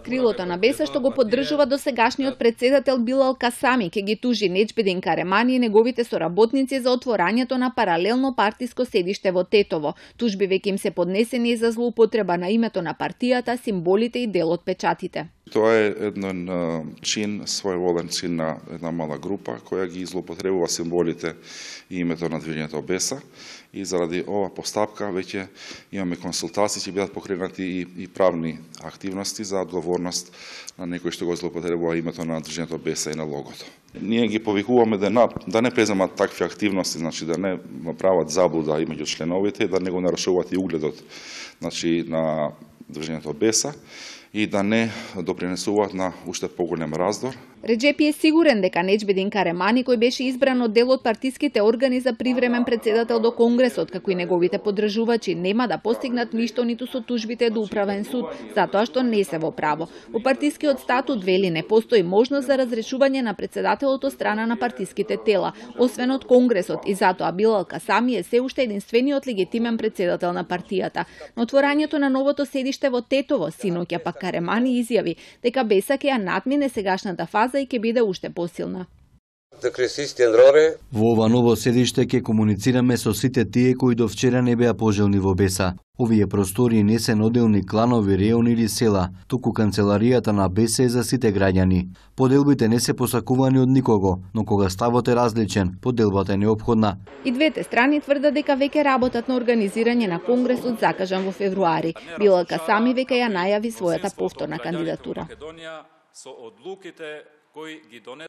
Крилото на БЕСА што го поддржува досегашниот председател Билал Касами ќе ги тужи Неџбедин Каремани и неговите соработници за отворањето на паралелно партиско седиште во Тетово. Тужби веќе им се поднесени за злоупотреба на името на партијата, символите и дел од печатите. Тоа е еден чин, своеволен чин на една мала група која ги злоупотребува символите и името на движењето БЕСА, и заради ова постапка веќе имаме консултации, ќе бидат покренати и правни активности за одговорност на некој што го злоупотребува името на движењето БЕСА и на логото. Ние ги повикуваме да не преземат такви активности, значи да не прават заблуда меѓу членовите, да не го нарушуваат и угледот, значи на движењето БЕСА, и да не допринесуваат на уште поголем раздор. Реџепи е сигурен дека Неџбедин Каремани, кој беше избран од дел од партиските органи за привремен председател до Конгресот, како и неговите поддржувачи, нема да постигнат ништо ниту со тужбите до управен суд, затоа што не се во право. Во партискиот статут вели не постои можност за разрешување на председателот од страна на партиските тела, освен од Конгресот, и затоа Билал Касами е се уште единствениот легитимен председател на партијата. На отворањето на новото седиште во Тетово, синоќа пак Каремани изјави дека БЕСА ќе ја надмине сегашната фаза и ќе биде уште посилна. Во ова ново седиште ќе комуницираме со сите тие кои до вчера не беа пожелни во БЕСА. Овие простори не се одделни кланови, реони или села, туку канцеларијата на БЕСА е за сите граѓани. Поделбите не се посакувани од никого, но кога ставот е различен, поделбата е неопходна. И двете страни тврдат дека веќе работат на организирање на конгресот закажан во февруари. Билал Касами веќе ја најави својата повторна кандидатура.